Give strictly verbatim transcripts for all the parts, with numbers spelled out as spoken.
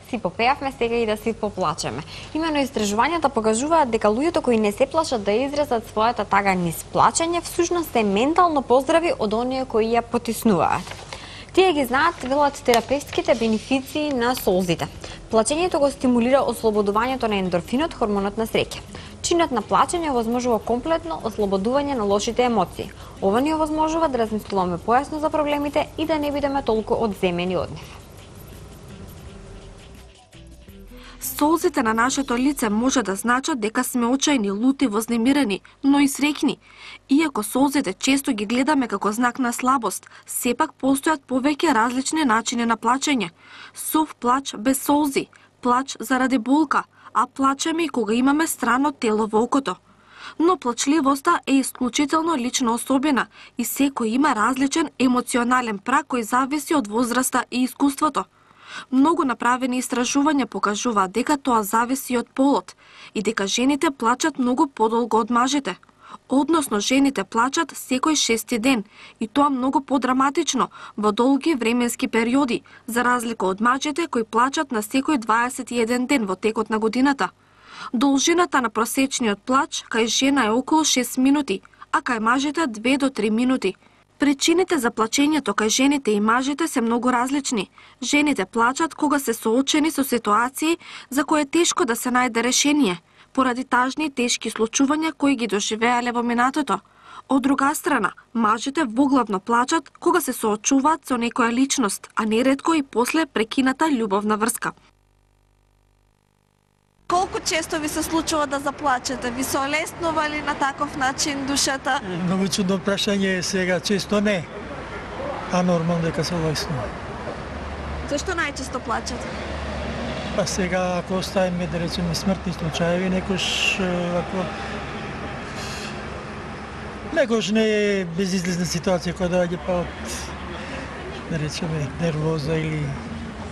си попеавме, сега и да си поплачеме. Имено истражувањата покажуваат дека луѓето кои не се плашат да изразат својата тага низ плачење, всушност се ментално поздрави од оние кои ја потиснуваат. Тие ги знаат, велат, терапевтските бенефиции на солзите. Плачењето го стимулира ослободувањето на ендорфинот, хормонот на среќа. Чинот на плачење овозможува комплетно ослободување на лошите емоции. Ова ни овозможува да размислуваме појасно за проблемите и да не бидеме толку одземени од нив. Солзите на нашето лице може да значат дека сме очајни, лути, вознемирени, но и среќни. Иако солзите често ги гледаме како знак на слабост, сепак постојат повеќе различни начини на плачење. Сов плач без солзи, плач заради болка, а плачеме и кога имаме странно тело во окото. Но плачливоста е исклучително лична особина и секој има различен емоционален праг кој зависи од возраста и искуството. Многу направени истражувања покажуваат дека тоа зависи од полот и дека жените плачат многу подолго од мажите. Односно, жените плачат секој шести ден и тоа многу подраматично во долги временски периоди, за разлика од мажите кои плачат на секој дваесет и еден ден во текот на годината. Должината на просечниот плач кај жена е околу шест минути, а кај мажите две до три минути. Причините за плачењето кај жените и мажите се многу различни. Жените плачат кога се соочени со ситуации за кои е тешко да се најде решение, поради тажни и тешки случувања кои ги доживеале во минатото. Од друга страна, мажите воглавно плачат кога се соочуваат со некоја личност, а неретко и после прекината љубовна врска. Колку често ви се случува да заплачете? Ви се олеснува ли на таков начин душата? Многу чудно прашање, сега често не, а нормално дека се олеснува. Зашто најчесто плачете? Па сега, ако оставиме, да речеме, смртни случаеви, некош, ако... Некош не е безизлезна ситуација која доаѓа па од, да речеме, нервоза или...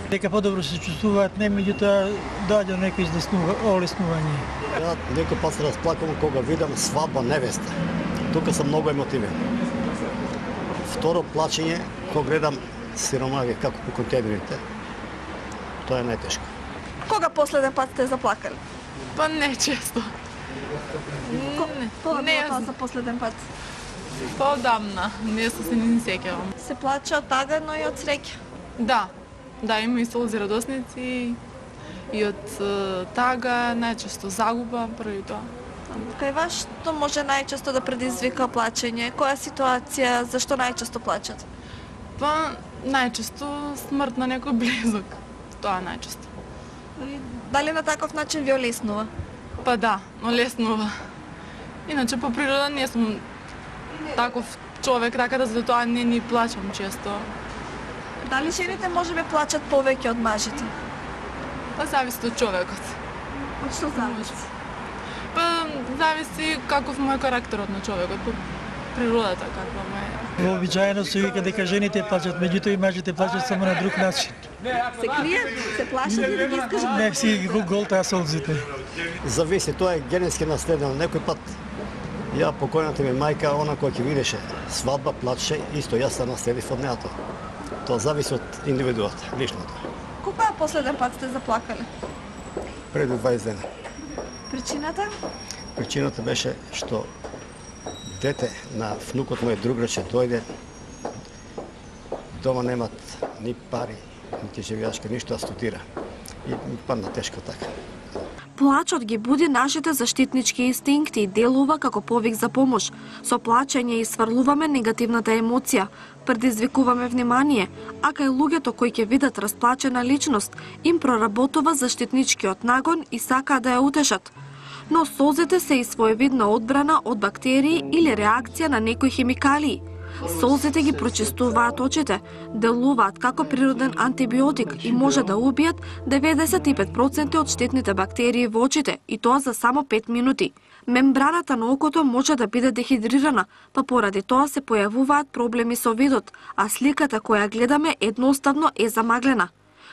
Дека подобро се чувствуваат, не, меѓутоа доаѓа некој излеснува, олеснување. Ја некој пат се расплакам кога видам свадба невеста. Тука сум многу емотивен. Второ плачење, кога гледам сиромави како по контейнерите, тоа е најтешко. Кога последен пат сте заплакали? Па не често. Не, кога не, било тоа за последен пат? Поодамна, не се не сеќавам. Се плаче од тага, но и од среќа. Да, да, има и солзи радосници, и од тага, најчесто загуба, први тоа. Кај вас што може најчесто да предизвика плачење? Која ситуација, зашто најчесто плачат? Па, најчесто смрт на некој близок. Тоа најчесто. Дали на таков начин ви олеснува? Па да, олеснува. Иначе по природа не сум таков човек, така да за тоа не ни плачам често. Дали жените можеби плачат повеќе од мажите? Па зависи од човекот. Од што зависи? Па зависи каков му е карактерот на човекот, по природата каква му е. Вообичаено се вика дека жените плачат, меѓутоа и мажите плачат само на друг начин. Се кријат, се плашат и да ги искажат? Не си ги голтаа солзите. Зависи, тоа е генетски наследено. Некој пат ја покојната ми мајка, она која ќе видеше свадба, плачеше, исто јас се наследив од неато. Тоа зависи од индивидуот, личното. Кога последен пат сте заплакали? Пред дваесет дена. Причината? Причината беше што дете на внукот мој друграче дојде, дома немат ни пари, ни живеачка, ништо да студира. И ми падна тешко така. Плачот ги буди нашите заштитнички инстинкти и делува како повик за помош. Со плачење исфрлуваме негативната емоција, предизвикуваме внимание, а кај луѓето кои ќе видат расплачена личност, им проработува заштитничкиот нагон и сакаат да ја утешат. Но солзите се и своевидна одбрана од бактерии или реакција на некои хемикалии. Солзите ги прочистуваат очите, делуваат како природен антибиотик и може да убијат деветдесет и пет проценти од штетните бактерии во очите, и тоа за само пет минути. Мембраната на окото може да биде дехидрирана, па поради тоа се појавуваат проблеми со видот, а сликата која гледаме едноставно е замаглена.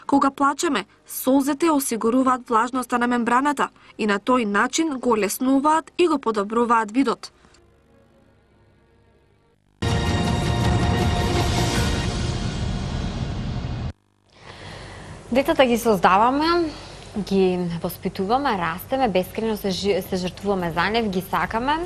Кога плачеме, солзите осигуруваат влажноста на мембраната и на тој начин го олеснуваат и го подобруваат видот. Децата ги создаваме, ги воспитуваме, растеме, бескрено се, се жртвуваме за нив, ги сакаме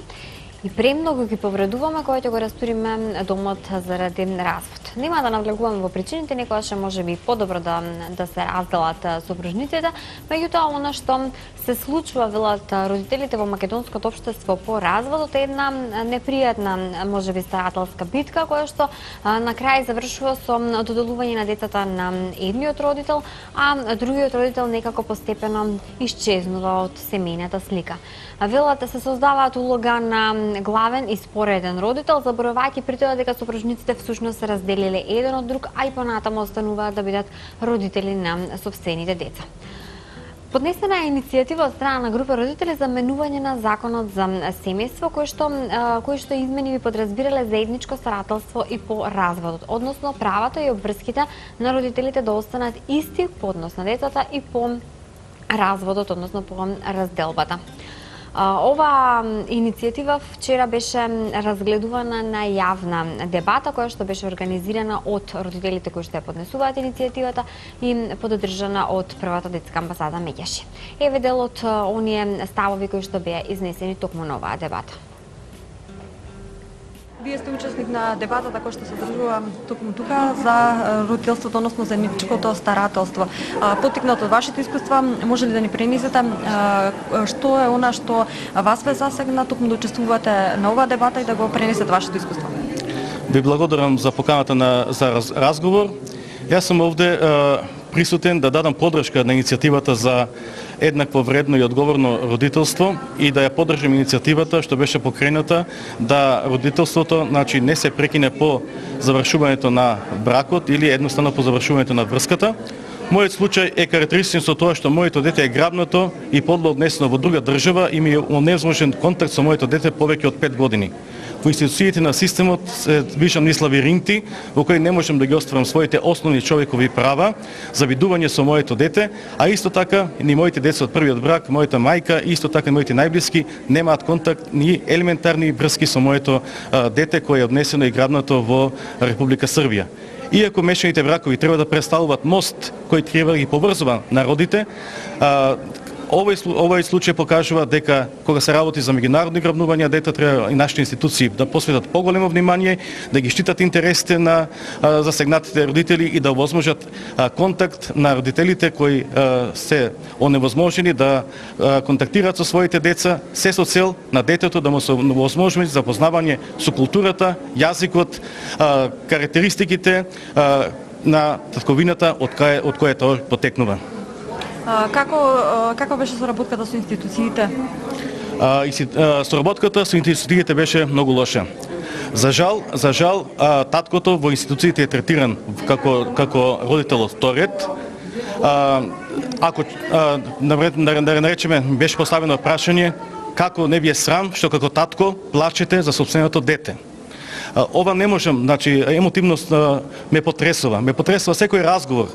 и премногу ги повредуваме кога ќе го растуриме домот заради развод. Нема да навлегуваме во причините, некогаш може би подобро да, да се разделат сопружниците, меѓутоа она што се случува, велат родителите во македонското општество по разводот, е една непријатна, можеби старателска битка, која што а, на крај завршува со доделување на децата на едниот родител, а другиот родител некако постепено исчезнува од семејната слика. Велат се создаваат улога на главен и спореден родител, заборавајќи при тоа дека сопружниците всушност се разделиле еден од друг, а и понатаму остануваат да бидат родители на сопствените деца. Поднесена е иницијатива од страна на група родители за менување на законот за семејство, кој што кој што измени би подразбирале заедничко старателство и по разводот, односно правата и обврските на родителите да останат исти по однос на децата и по разводот, односно по разделбата. Ова иницијатива вчера беше разгледувана на јавна дебата која што беше организирана од родителите кои што ја поднесуваат иницијативата и поддржана од првата детска амбасада Меѓаши. Еве дел од оние ставови кои што беа изнесени токму на оваа дебата. Вие сте учесник на дебатата која што се одржува токму тука за родителството, односно заедничкото старателство. Поттикнато од вашите искуства, може ли да ни пренесете што е она што вас ве засегна токму да учествувате на оваа дебата и да го пренесете вашето искуство? Ви благодарам за поканата на за раз, разговор. Јас сум овде присутен да дадам поддршка на иницијативата за еднакво вредно и одговорно родителство и да ја поддржим иницијативата што беше покрената да родителството, значи, не се прекине по завршувањето на бракот или едноставно по завршувањето на врската. Мојот случај е карактеристичен со тоа што моето дете е грабнато и подло однесено во друга држава и ми е оневозможен контакт со моето дете повеќе од пет години. Во институциите на системот се вишам низ лавиринти во кои не можам да ги остварам своите основни човекови права за видување со моето дете, а исто така ни моите деца од првиот брак, мојата мајка, исто така моите најблиски немаат контакт ни елементарни врски со моето а, дете кое е однесено и грабнато во Република Србија. Иако мешаните бракови треба да представуваат мост кој треба да ги поврзува народите, а, Овој, овој случај покажува дека кога се работи за меѓународни грабнувања, дете треба и нашите институции да посветат поголемо внимание, да ги штитат интересите на а, засегнатите родители и да овозможат а, контакт на родителите кои а, се оневозможени да а, контактираат со своите деца, се со цел на детето да му се овозможи запознавање со културата, јазикот, а, карактеристиките а, на татковината од кај од која тоа потекнува. Како, каква беше соработката со институциите? А, и, а, соработката со институциите беше многу лоша. За жал, за жал, а, таткото во институциите е третиран како како родител од втор ред. А, ако а, да наречеме беше поставено прашање како не ви е срам што како татко плачете за сопственото дете. Ова не можам, значи емотивност ме потресува. Ме потресува секој разговор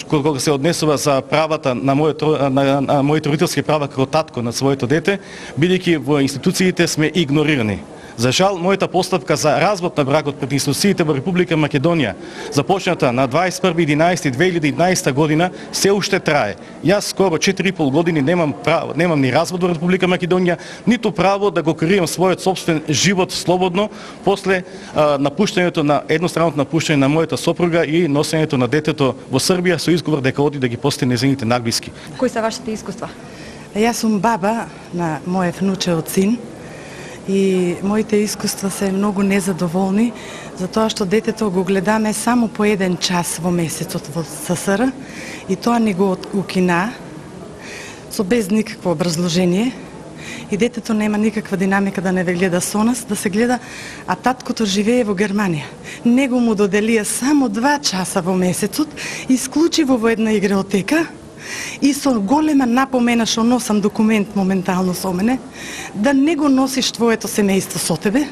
кога се однесува за правата на моето на, на моите родителски права како татко на своето дете, бидејќи во институциите сме игнорирани. За жал, мојата постапка за развод на бракот пред институциите во Република Македонија, започната на дваесет и први единаесети две илјади и еднаесета година, се уште трае. Јас скоро четири и пол години немам право, немам ни развод во Република Македонија, ниту право да го креирам својот собствен живот слободно после а, напуштањето на едностранното напуштање на мојата сопруга и носењето на детето во Србија со изговор дека оди да ги посети незините најблиски. Кои се вашите искуства? Јас сум баба на мојот внучеот син. И моите искуства се многу незадоволни, затоа што детето го гледаме само по еден час во месецот во ССР и тоа ни го укина со без никакво образложение и детето нема никаква динамика да не ве гледа со нас, да се гледа, а таткото живее во Германија. Него му доделија само два часа во месецот, исклучиво во една игротека, и со голема напомена што носам документ моментално со мене, да не го носиш твоето семејство со тебе,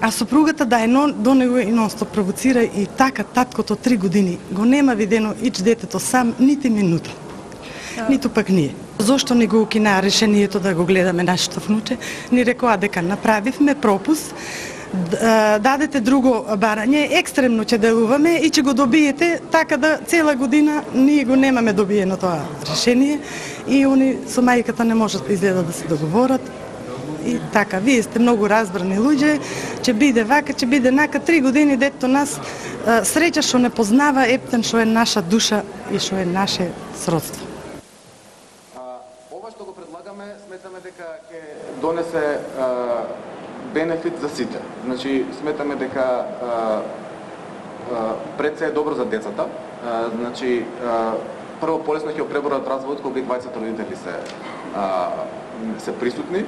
а сопругата да е до него и нонстоп провоцира и така таткото три години го нема видено ич детето сам нити минута. Ниту пак ние. Зошто ни го укина решението да го гледаме нашето внуче? Ни рекоа дека направивме пропуст, дадете друго барање, екстремно ќе делуваме и ќе го добиете, така да цела година ние го немаме добиено тоа решение и они со мајката не можат изгледа да се договорат. И така, вие сте многу разбрани луѓе, ќе биде вака, ќе биде нака, три години дето нас среќа што не познава ептен што е наша душа и што е наше сродство. Ова што го предлагаме, сметаме дека ќе донесе бенефит за сите. Значи, сметаме дека пред се е добро за децата. Значи, прво полесно ќе преборат разводот кога и двајцата родители се се присутни.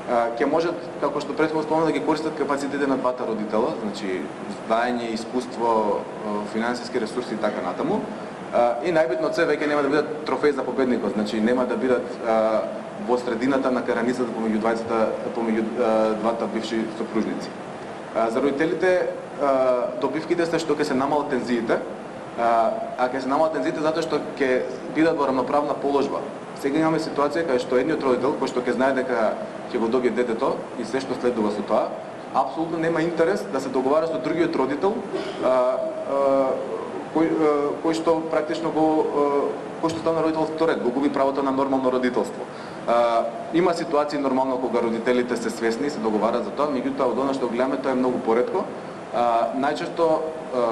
Ќе можат, како што претходно спомнав, да ги користат капацитетите на двата родитела, значи знаење, искуство, финансиски ресурси и така натаму. И најбитно од се веќе нема да бидат трофеј за победникот, значи нема да бидат во средината на караницата помеѓу двајцата, помеѓу двата бивши сопружници. За родителите добивките се што ќе се намалат тензиите, а ќе се намалат тензиите затоа што ќе бидат во рамноправна положба. Сега имаме ситуација кај што едниот родител, кој што ќе знае дека ќе го добие детето и се што следува со тоа, апсолутно нема интерес да се договара со другиот родител, а, а, кој, а, кој што практично го кој што стана родител вторет, го губи правото на нормално родителство. А, има ситуации нормално кога родителите се свесни и се договарат за тоа, меѓутоа од она што гледаме тоа е многу поретко. А, најчесто а,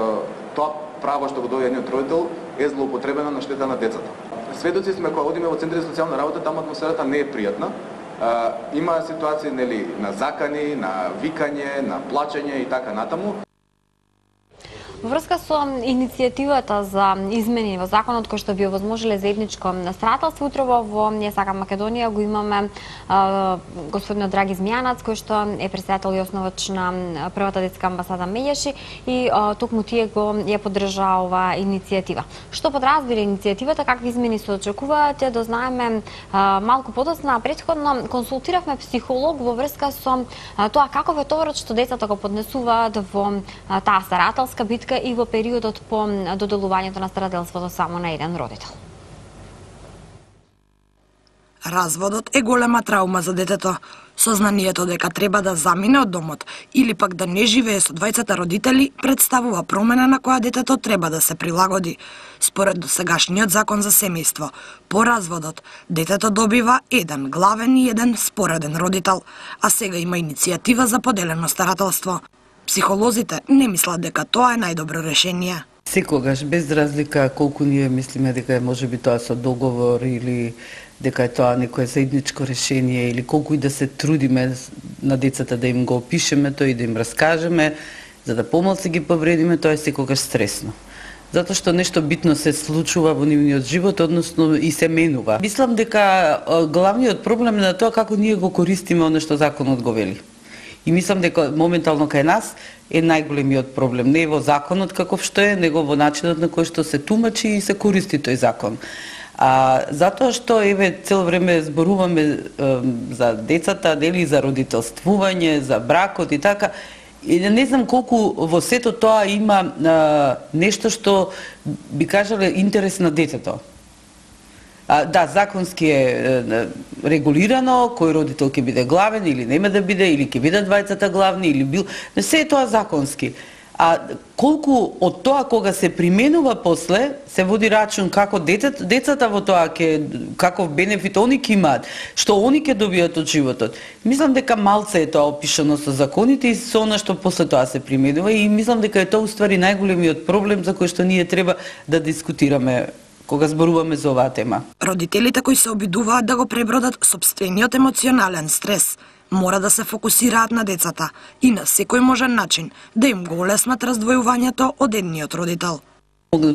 тоа право што го добива едниот родител е злоупотребено на штета на децата. Сведоци сме кога одиме во центри за социјална работа, таму атмосферата не е пријатна. А, има ситуации нели на закани, на викање, на плачење и така натаму. Во врска со иницијативата за измени во законот кој што би овозможиле заедничко старателство, утрово во Ние сакам Македонија го имаме а, господинот Драги Змијанац, кој што е председател и основач на првата детска амбасада Меѓаши и а, токму тие го ја поддржаа оваа иницијатива. Што подразбира иницијативата, какви измени се очекуваат, е да знаеме а, малку подоцна, предходно консултиравме психолог во врска со а, тоа каков е товарот што децата го поднесуваат во а, таа старателска битка и во периодот по доделувањето на старателството само на еден родител. Разводот е голема траума за детето. Сознанието дека треба да замине од домот или пак да не живее со двајцата родители представува промена на која детето треба да се прилагоди. Според досегашниот закон за семејство, по разводот, детето добива еден главен и еден спореден родител, а сега има иницијатива за поделено старателство. Психолозите не мислат дека тоа е најдобро решение. Секогаш, без разлика колку ние мислиме дека е можеби тоа со договор или дека е тоа некое заедничко решение или колку и да се трудиме на децата да им го опишеме тоа и да им раскажеме, за да помалку ги повредиме, тоа е секогаш стресно. Затоа што нешто битно се случува во нивниот живот, односно и се менува. Мислам дека главниот проблем е на тоа како ние го користиме оно што законот го вели. И мислам дека моментално кај нас е најголемиот проблем. Не во законот каков што е, него во начинот на кој што се тумачи и се користи тој закон. А, затоа што еве цело време зборуваме е, за децата, дели за родителствување, за бракот и така, и не знам колку во сето тоа има е, нешто што би кажале интерес на детето. А, да, законски е, е регулирано кој родител ќе биде главен или нема да биде, или ќе бидат двајцата главни, или бил... Не се е тоа законски. А колку од тоа кога се применува после, се води рачун како детето, децата во тоа ќе, каков бенефит они ќе имаат, што они ќе добијат од животот. Мислам дека малце е тоа опишано со законите и со она што после тоа се применува и мислам дека е тоа уствари најголемиот проблем за кој што ние треба да дискутираме кога зборуваме за оваа тема. Родителите кои се обидуваат да го пребродат сопствениот емоционален стрес, мора да се фокусираат на децата и на секој можен начин да им го олеснат раздвојувањето од едниот родител.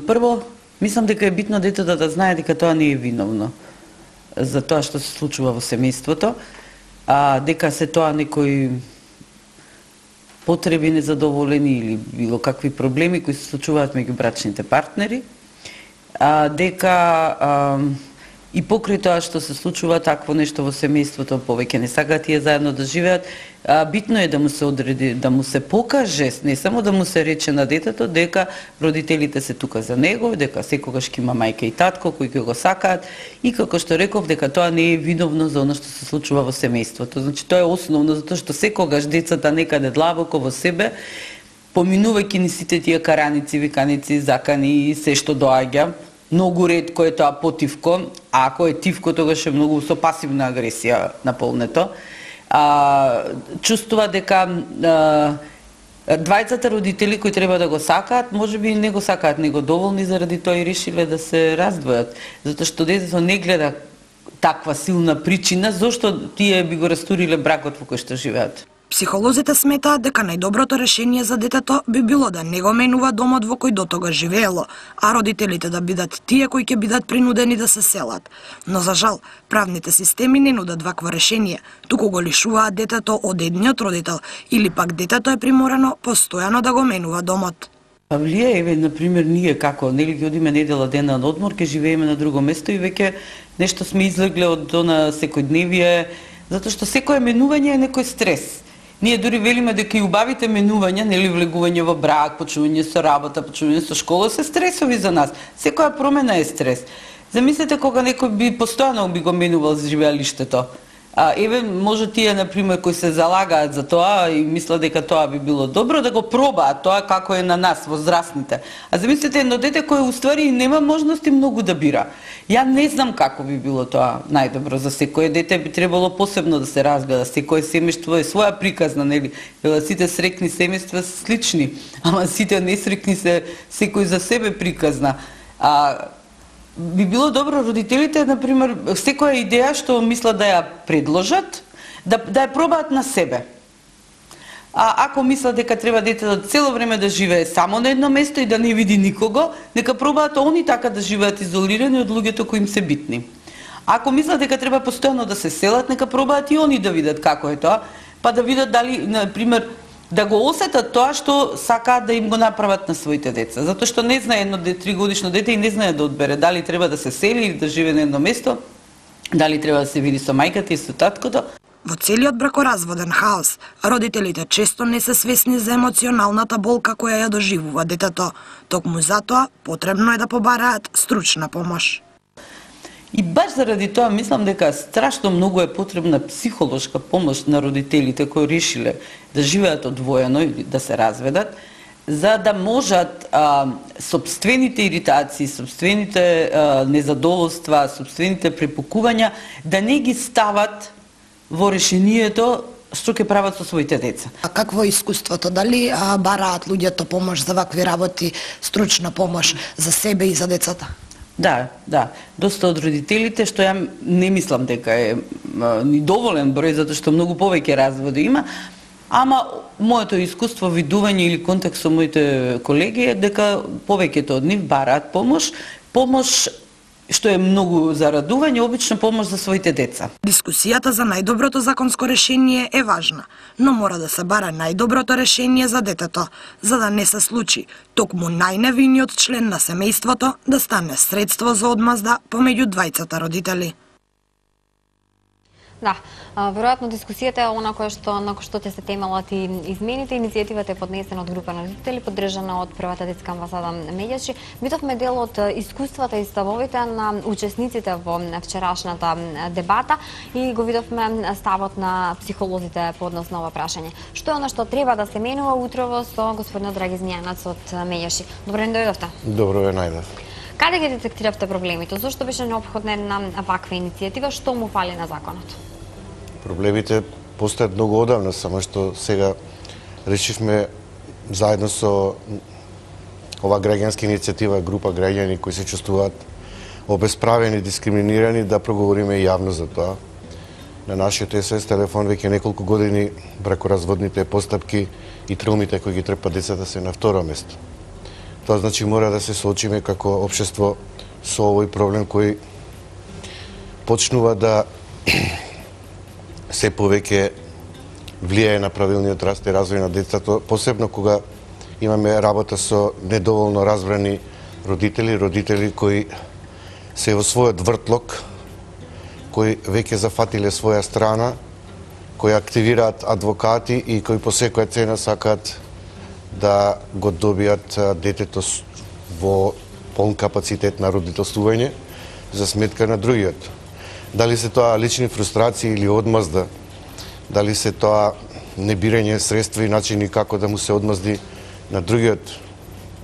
Прво, мислам дека е битно детето да знае дека тоа не е виновно за тоа што се случува во семејството, а дека се тоа некои потреби незадоволени или било какви проблеми кои се случуваат меѓу брачните партнери, а, дека а, и покрај тоа што се случува такво нешто во семејството, повеќе не сакаат тие заедно да живеат, а, битно е да му се одреди, да му се покаже, не само да му се рече на детето дека родителите се тука за него, дека секогаш ќе има мајка и татко кои ќе го сакаат и како што реков дека тоа не е виновно за она што се случува во семејството. Значи тоа е основно затоа што секогаш децата некаде длабоко во себе, поминувајќи ни сите тие караници, виканици, закани и се што доаѓа, многу ретко е тоа потивко, а ако е тивко, тогаш е многу со пасивна агресија наполнето. А, чувствува дека а, двајцата родители кои треба да го сакаат, можеби не го сакаат него доволни, заради тоа и решиле да се раздвојат. Затоа што детето не гледа таква силна причина зошто тие би го растуриле бракот во кој што живеат. Психолозите сметаат дека најдоброто решение за детето би било да не го менува домот во кој дотога живеело, а родителите да бидат тие кои ќе бидат принудени да се селат. Но за жал, правните системи не нудат вакво решение, туку го лишуваат детето од едниот родител или пак детето е приморано постојано да го менува домот. Па влие, еве, например, ние како, нели ќе одиме недела дена на одмор, ќе живееме на друго место и веќе нешто сме излегле од она секојдневие, затоа што секое менување е некој стрес. Ние дури велиме дека и убавите менувања, нели влегување во брак, почнување со работа, почнување со школа, се стресови за нас. Секоја промена е стрес. Замислете кога некој би постојано би го менувал живеалиштето. А, еве, може тие, например, кои се залагаат за тоа и мислат дека тоа би било добро, да го пробаат тоа како е на нас, возрастните. А замислете едно дете кое уствари нема можности многу да бира. Ја не знам како би било тоа најдобро за секое дете, би требало посебно да се разгледа. Секое семејство е своја приказна, нели? Сите среќни семејства се слични, ама сите несреќни се секој за себе приказна. А би било добро родителите, например, секоја идеја што мислат да ја предложат, да, да ја пробаат на себе. А ако мислат дека треба детето цело време да живее само на едно место и да не види никого, нека пробаат они така да живеат изолирани од луѓето кои им се битни. Ако мислат дека треба постојано да се селат, нека пробаат и они да видат како е тоа, па да видат дали, например, да го осетат тоа што сакаат да им го направат на своите деца. Затоа што не знае едно тригодишно дете и не знае да одбере дали треба да се сели или да живее на едно место, дали треба да се види со мајката и со таткото. Во целиот бракоразводен хаос, родителите често не се свесни за емоционалната болка која ја доживува детето. Токму затоа потребно е да побараат стручна помош. И баш заради тоа мислам дека страшно многу е потребна психолошка помош на родителите кои решиле да живеат одвоено или да се разведат, за да можат а, собствените иритации, собствените а, незадоволства, собствените препукувања да не ги стават во решението што ќе прават со своите деца. А какво е искуството? Дали а, бараат луѓето помош за вакви работи, стручна помош за себе и за децата? Да, да. Доста од родителите, што ја не мислам дека е а, ни доволен број, затоа што многу повеќе разводи има, ама моето искуство, видување или контакт со моите колеги е дека повеќето од нив бараат помош, помош што е многу за радување, обично помош за своите деца. Дискусијата за најдоброто законско решение е важна, но мора да се бара најдоброто решение за детето, за да не се случи токму најневиниот член на семејството да стане средство за одмазда помеѓу двајцата родители. Да, веројатно дискусијата е она која што на кој што ќе се темелат и измените. Иницијативата е поднесена од група на родители, поддржана од првата детска амбасада Меѓачи. Видовме дел од искуствата и ставовите на учесниците во вчерашната дебата и го видовме ставот на психолозите по однос на ова прашање. Што е она што треба да се менува утрово со господинот Драги Змијанац од Меѓачи? Добро ден, дојдовте. Добро ве најдов. Каде ги детектиравте проблемите? Зошто беше неопходна една ваква иницијатива? Што му фали на законот? Проблемите постојат многу одавна, само што сега решивме заедно со ова граѓанска иницијатива, група граѓани кои се чувствуваат обесправени, дискриминирани, да проговориме јавно за тоа. На нашиот ес о ес телефон веќе неколку години бракоразводните постапки и травмите кои ги трпат децата се на второ место. Тоа значи мора да се соочиме како општество со овој проблем кој почнува да се повеќе влијае на правилниот раст и развој на децата, посебно кога имаме работа со недоволно разбрани родители, родители кои се во својот вртлок кои веќе зафатиле своја страна, кои активираат адвокати и кои по секоја цена сакаат да го добијат детето во полн капацитет на родителствување за сметка на другиот. Дали се тоа лични фрустрации или одмазда, дали се тоа небирање средства и начини како да му се одмазди на другиот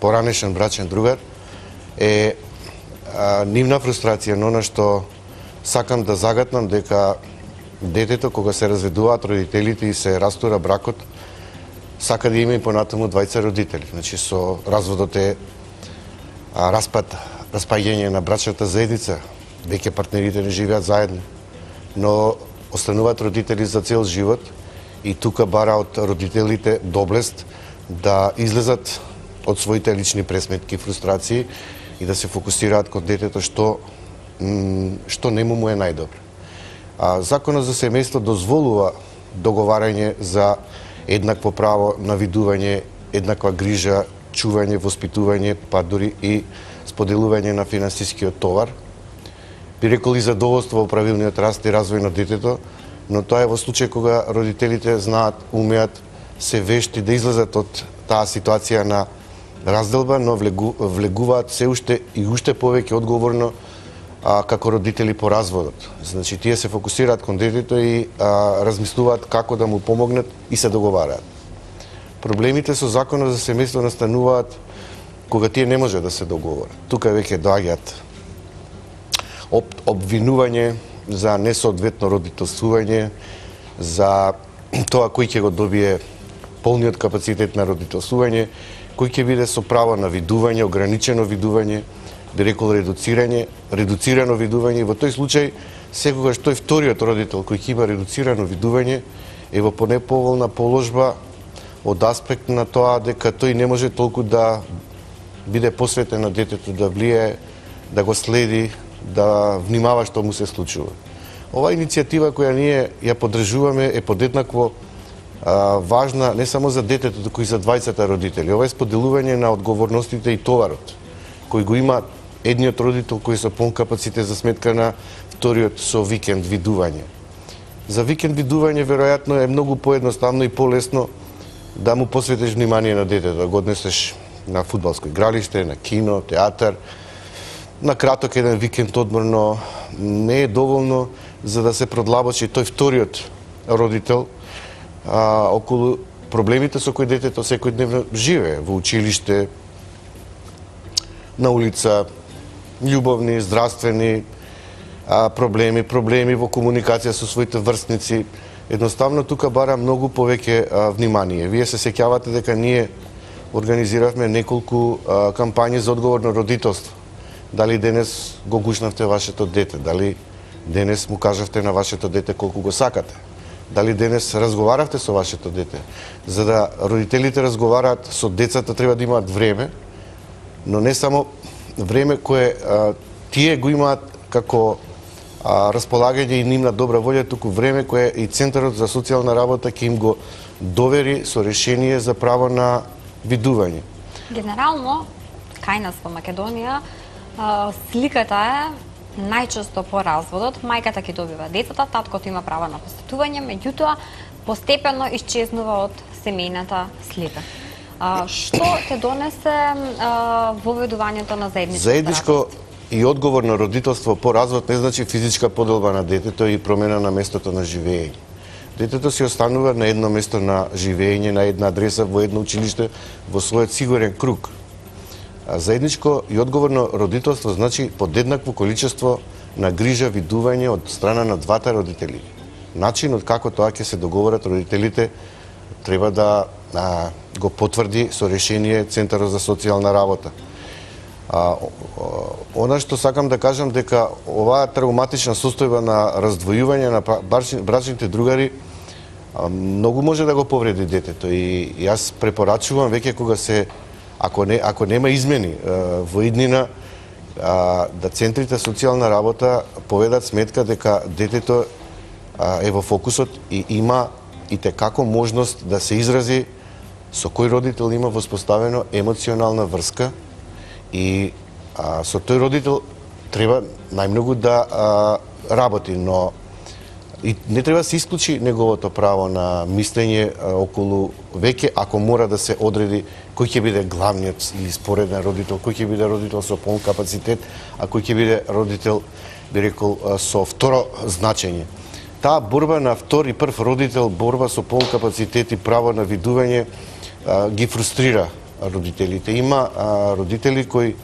поранешен брачен другар, е а, нивна фрустрација, но она што сакам да загатнам дека детето кога се разведуваат родителите и се растура бракот, сака да има и понатаму двајца родители. Значи со разводот е а, распад, распаѓање на брачната заедница, веќе партнерите не живеат заедно, но остануваат родители за цел живот и тука бара од родителите доблест да излезат од своите лични пресметки, фрустрации и да се фокусираат кон детето што што нему му е најдобро. А законот за семејство дозволува договарање за еднакво право на видување, еднаква грижа, чување, воспитување, па дури и споделување на финансискиот товар. Би рекол и задоволство во правилниот раст и развој на детето, но тоа е во случај кога родителите знаат, умеат, се вешти да излезат од таа ситуација на разделба, но влегу, влегуваат се уште и уште повеќе одговорно а, како родители по разводот. Значи, тие се фокусираат кон детето и а, размислуваат како да му помогнат и се договараат. Проблемите со законот за семејство настануваат кога тие не може да се договорат. Тука веќе доаѓаат об, обвинување за несоодветно родителствување, за тоа кој ќе го добие полниот капацитет на родителствување, кој ќе биде со право на видување, ограничено видување, би рекол редуцирање, редуцирано видување. Во тој случај, секогаш тој вториот родител кој ќе има редуцирано видување е во понеповолна положба од аспект на тоа дека тој не може толку да биде посветен на детето, да влие, да го следи, да внимава што му се случува. Оваа иницијатива која ние ја поддржуваме е подеднакво а, важна не само за детето, туку и за двајцата родители. Ова е споделување на одговорностите и товарот кој го има едниот родител кој со полн капацитет за сметка на вториот со викенд видување. За викенд видување веројатно е многу поедноставно и полесно да му посветиш внимание на детето, да го однесеш на фудбалско игралиште, на кино, театар, на краток еден викенд одмор, но не е доволно за да се продлабочи тој вториот родител а, околу проблемите со кои детето секојдневно живее во училиште, на улица, љубовни, здравствени а, проблеми, проблеми во комуникација со своите врстници. Едноставно тука бара многу повеќе а, внимание. Вие се сеќавате дека ние организиравме неколку а, кампањи за одговорно родителство. Дали денес го гушнавте вашето дете, дали денес му кажавте на вашето дете колку го сакате, дали денес разговаравте со вашето дете. За да родителите разговараат со децата треба да имаат време, но не само време кое а, тие го имаат како а, располагање и нивна добра волја, туку време кое и Центарот за социјална работа ќе им го довери со решение за право на видување. Генерално, кај нас во Македонија, сликата е најчесто по разводот, мајката ќе добива децата, таткото има право на посетување, меѓутоа постепено исчезнува од семејната слика. А, што те донесе а, воведувањето на заедничко Заедничко и одговорно родителство по развод не значи физичка поделба на детето и промена на местото на живење. Детето си останува на едно место на живење, на една адреса, во едно училиште, во својот сигурен круг. А заедничко и одговорно родителство значи подеднакво количество на грижа, видување од страна на двата родители. Начинот како тоа ќе се договорат родителите треба да а, го потврди со решение Центарот за социјална работа. А, она што сакам да кажам дека оваа травматична состојба на раздвојување на брачните другари а, многу може да го повреди детето и јас препорачувам веќе кога се ако не ако нема измени а, во иднина а, да центрите социјална работа поведат сметка дека детето а, е во фокусот и има и текако можност да се изрази со кој родител има воспоставено емоционална врска и а, со тој родител треба најмногу да а, работи, но и не треба да се исклучи неговото право на мислење а, околу веќе, ако мора да се одреди кој ќе биде главниот или спореден родител, кој ќе биде родител со полн капацитет, а кој ќе биде родител, би рекол, со второ значење. Таа борба на втори и прв родител, борба со полн капацитет и право на видување а, ги фрустрира родителите. Има а, родители кои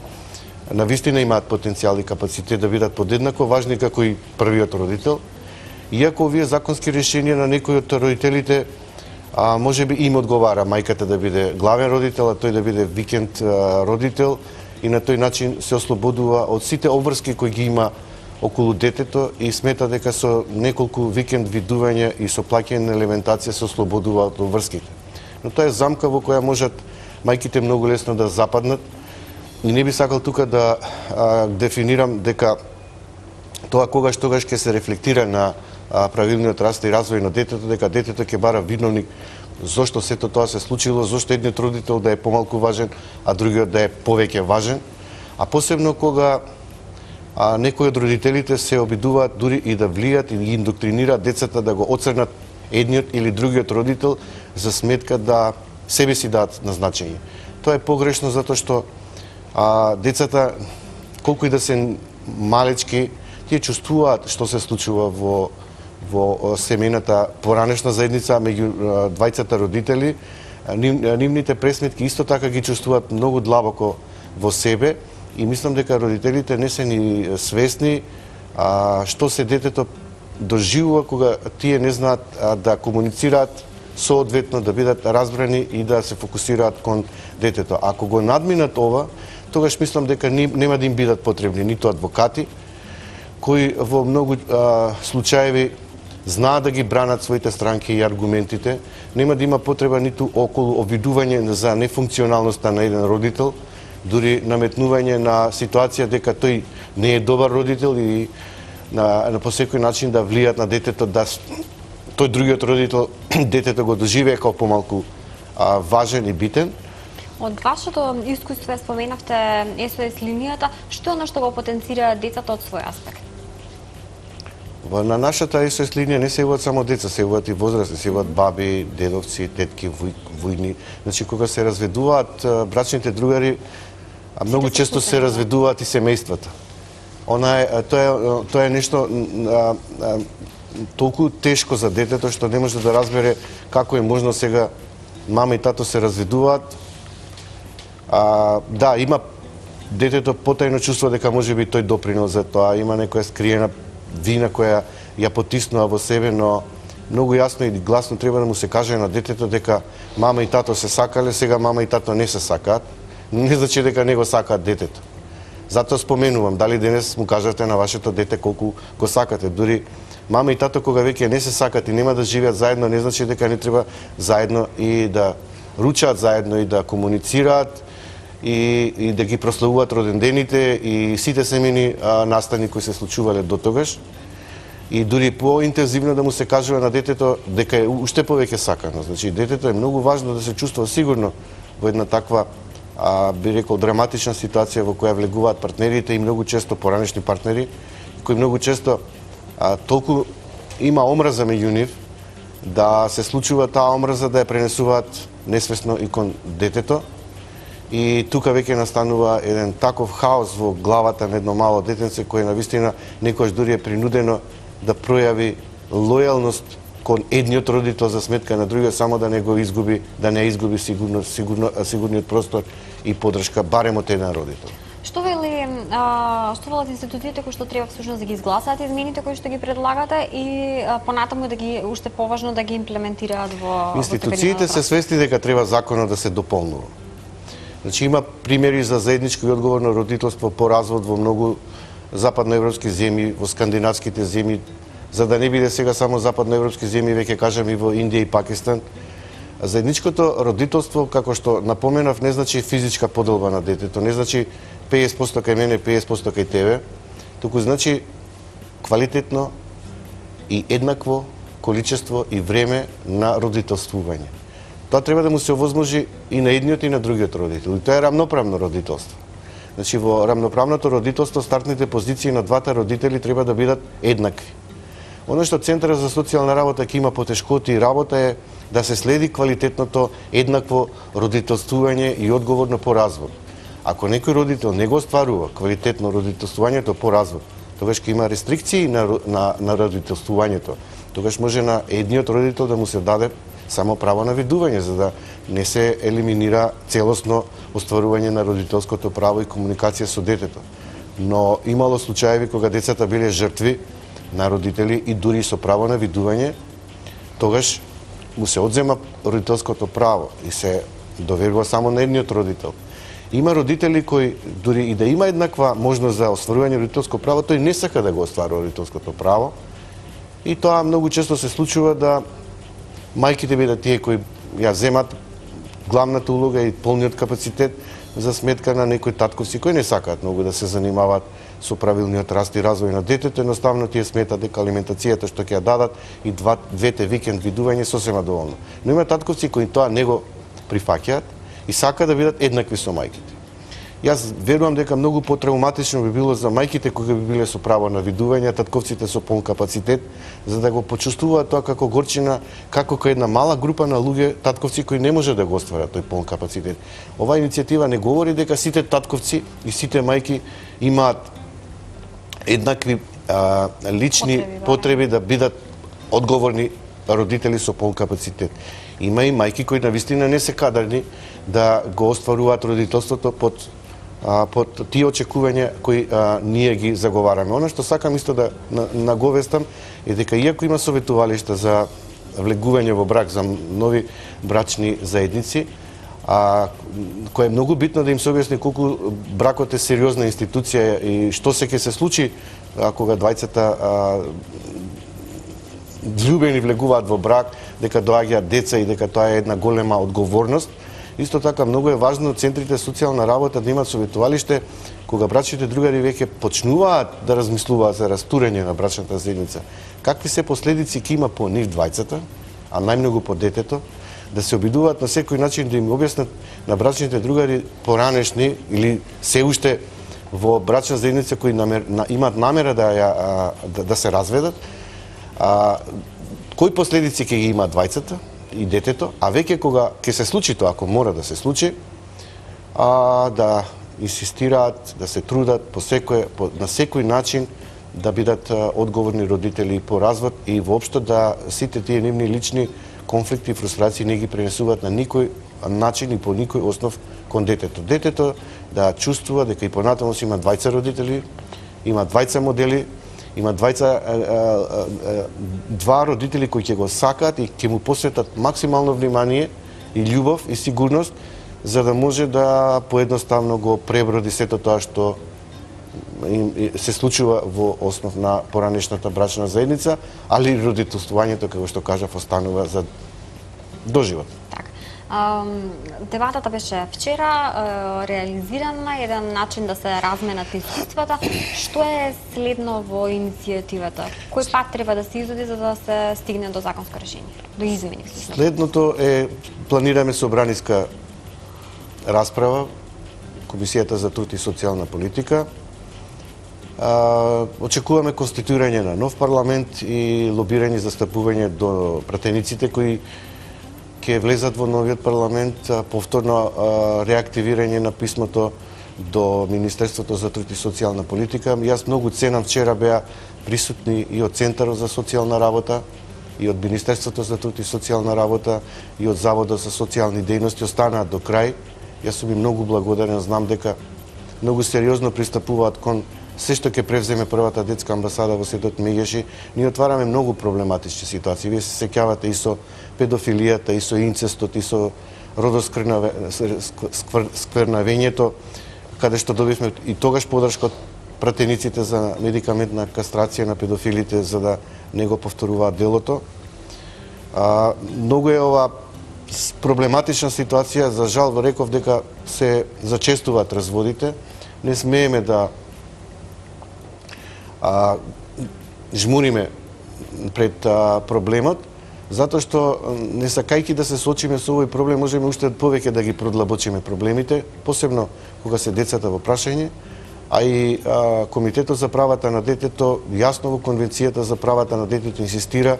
навистина имаат потенцијал и капацитет да бидат подеднако важни како и првиот родител, иако овие законски решенија на некои од родителите а, може би им одговара мајката да биде главен родител, а тој да биде викенд а, родител, и на тој начин се ослободува од сите обврски кои ги има околу детето и смета дека со неколку викенд видување и со плаќање на алиментација се ослободува од обврските. Но тоа е замка во која можат мајките многу лесно да западнат. И не би сакал тука да а, дефинирам дека тоа когаш тогаш ќе се рефлектира на а, правилниот раст и развој на детето, дека детето ќе бара виновник зошто сето тоа се случило, зошто едниот родител да е помалку важен, а другиот да е повеќе важен. А посебно кога а, некои од родителите се обидуваат дури и да влијат и ги индоктринираат децата да го оцрнат едниот или другиот родител за сметка да себе си дадат назначење. Тоа е погрешно затоа што а, децата, колку и да се малечки, тие чувствуваат што се случува во, во семејната поранешна заедница меѓу двајцата родители. Ним, нивните пресметки исто така ги чувствуваат многу длабоко во себе и мислам дека родителите не се ни свесни а, што се детето доживува кога тие не знаат а, да комуницираат соодветно, да бидат разбрани и да се фокусираат кон детето. Ако го надминат ова, тогаш мислам дека нема да им бидат потребни ниту адвокати, кои во многу а, случаеви знаат да ги бранат своите странки и аргументите, нема да има потреба ниту околу обвидување за нефункционалноста на еден родител, дури наметнување на ситуација дека тој не е добар родител и на, на по секој начин да влијат на детето да тој другиот родител детето го доживее како помалку а, важен и битен. Од вашето искуство споменавте ес о ес линијата, што е оно што го потенцира децата од свој аспект? На нашата ес о ес линија не се јавуваат само деца, се јавуваат и возрастни, се јавуваат баби, дедовци, тетки, војни. Значи кога се разведуваат брачните другари, а многу често се разведуваат и семејствата. Она е тоа е тоа е нешто а, а, толку тешко за детето што не може да разбере како е можно сега мама и тато се разведуваат. А, да, има детето потајно чувствува дека можеби тој допринел за тоа, има некоја скриена вина која ја потиснува во себе, но многу јасно и гласно треба да му се каже на детето дека мама и тато се сакале, сега мама и тато не се сакаат. Не значи дека не го сакаат детето. Затоа споменувам, дали денес му кажете на вашето дете колку го сакате. Дури мама и тато кога веќе не се сакат и нема да живеат заедно, не значи дека не треба заедно и да ручаат заедно и да комуницираат и, и да ги прославуваат родендените и сите семени а, настани кои се случувале до тогаш. И дури поинтензивно да му се кажува на детето дека е уште повеќе сакано. Значи детето е многу важно да се чувствува сигурно во една таква а, би рекол драматична ситуација во која влегуваат партнерите и многу често поранешни партнери, кои многу често а, толку има омраза меѓу нив да се случува таа омраза да ја пренесуваат несвесно и кон детето. И тука веќе настанува еден таков хаос во главата на едно мало детенце кое навистина некојаш дури е принудено да пројави лојалност кон едниот родител за сметка на другиот, само да не го изгуби, да не изгуби сигурно, сигурно, сигурниот простор и поддршка барем од еден родител. Што вели, а, што велат институциите кои што треба всушност да ги изгласаат измените кои што ги предлагате и а, понатаму да ги уште поважно да ги имплементираат во институциите се свесни дека треба законот да се дополнува. Значи има примери за заедничко и одговорно родителство по развод во многу западноевропски земји, во скандинавските земји, за да не биде сега само западноевропски земји, веќе кажам и во Индија и Пакистан. Заедничкото родителство, како што напоменав, не значи физичка поделба на детето, не значи песет проценти кај мене, песет проценти кај тебе, туку значи квалитетно и еднакво количество и време на родителствување. Тоа треба да му се овозможи и на едниот и на другиот родител. И тоа е рамноправно родителство. Значи во рамноправното родителство стартните позиции на двата родители треба да бидат еднакви. Оно што Центарот за социјална работа ќе има потешкоти и работа е да се следи квалитетното еднакво родителствување и одговорно по развод. Ако некој родител не го остварува квалитетно родителствувањето по развод, тогаш ќе има рестрикции на, на, на родителствувањето. Тогаш може на едниот родител да му се даде само право на видување, за да не се елиминира целосно остварување на родителското право и комуникација со детето. Но имало случаеви кога децата биле жртви на родители и дури со право на видување, тогаш му се одзема родителското право и се доверува само на едниот родител. Има родители кои дури и да има еднаква можност за остварување родителско право, тој не сака да го остварува родителското право. И тоа многу често се случува да мајките бидат тие кои ја земат главната улога и полниот капацитет за сметка на некои татковци кои не сакаат многу да се занимаваат со правилниот раст и развој на детето, едноставно тие сметат дека алиментацијата што ќе ја дадат и два, двете викенд видување сосема доволно. Но има татковци кои тоа не го прифаќаат и сакаат да бидат еднакви со мајките. Јас верувам дека многу потрауматично би било за мајките кои би биле со право на видување, татковците со полн капацитет, за да го почувствуваат тоа како горчина, како кај една мала група на луѓе татковци кои не може да го остварат тој полн капацитет. Оваа иницијатива не говори дека сите татковци и сите мајки имаат еднакви а, лични потреби, потреби да бидат одговорни родители со полн капацитет. Има и мајки кои навистина не се кадарни да го остваруваат родителството под а, под тие очекувања кои а, ние ги заговараме. Оно што сакам исто да наговестам е дека иако има советувалишта за влегување во брак за нови брачни заедници, а кое е многу битно да им се објасни колку бракот е сериозна институција и што се ќе се случи а, кога двајцата љубени влегуваат во брак, дека доаѓаат деца и дека тоа е една голема одговорност. Исто така многу е важно центрите социјална работа да имаат советувалиште кога брачните другари веќе почнуваат да размислуваат за растурење на брачната заедница. Какви се последици ќе има по нив двајцата, а најмногу по детето, да се обидуваат на секој начин да им објаснат на брачните другари поранешни или се уште во брачна заедница кои намер, на, имаат намера да, ја, да, да се разведат, а, кои последици ќе ги имаат двајцата и детето, а веќе кога ќе се случи тоа, ако мора да се случи, а, да инсистираат, да се трудат по секој, по, на секој начин да бидат а, одговорни родители по развод и воопшто да сите тие нивни лични конфликти и фрустрации не ги пренесуваат на никој начин и по никој основ кон детето. Детето да чувствува дека и понатаму има двајца родители, има двајца модели, има двајца а, а, а, два родители кои ќе го сакаат и ќе му посветат максимално внимание и љубов и сигурност за да може да поедноставно го преброди сето тоа што се случува во основ на поранешната брачна заедница, али родителствувањето, како што кажав, останува за доживот. Така. Дебатата беше вчера реализирана, еден начин да се разменат искуствата. Што е следно во иницијативата? Кој пат треба да се изоди за да се стигне до законско решение, до измени? Следното е планираме собраниска расправа, Комисијата за труд и социјална политика. А, очекуваме конституирање на нов парламент и лобирање за стапување до пратениците кои ќе влезат во новиот парламент, а, повторно а, реактивирање на писмото до Министерството за труд и социјална политика. Јас многу ценам, вчера беа присутни и од Центарот за социјална работа, и од Министерството за труд и социјална работа, и од Заводот за социјални дејности, останаат до крај. Јас сум им многу благодарен, знам дека многу сериозно пристапуваат кон се што ќе превземе првата детска амбасада во светот Мегеши. Ние отвараме многу проблематични ситуации. Вие се сеќавате и со педофилијата, и со инцестот, и со родосквернавењето, каде што добивме и тогаш подршка од пратениците за медикаментна кастрација на педофилите за да не го повторуваат делото. А, многу е ова проблематична ситуација, за жал реков дека се зачестуваат разводите. Не смееме да а, жмуриме пред а, проблемот, затоа што не сакајќи да се соочиме со овој проблем, можеме уште повеќе да ги продлабочиме проблемите, посебно кога се децата во прашање, а и а, Комитетот за правата на детето јасно во Конвенцијата за правата на детето инсистира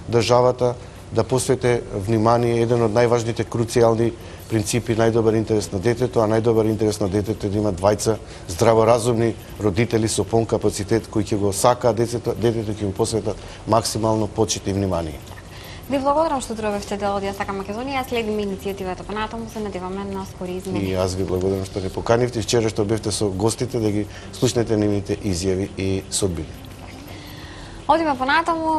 државата да посвети внимание еден од најважните круцијални принципи најдобар интерес на детето, а најдобар интерес на детето е да има двајца здраворазумни родители со полн капацитет кои ќе го сакаат детето, детето ќе му посветат максимално почит и внимание. Ви благодарам што дојдовте дел од Јасака Македонија, следиме иницијативата понатаму, се надеваме на скори измени. И јас ви благодарам што не поканивте, вчера што бевте со гостите да ги слушнете нивните изјави и содбини. Одиме понатаму,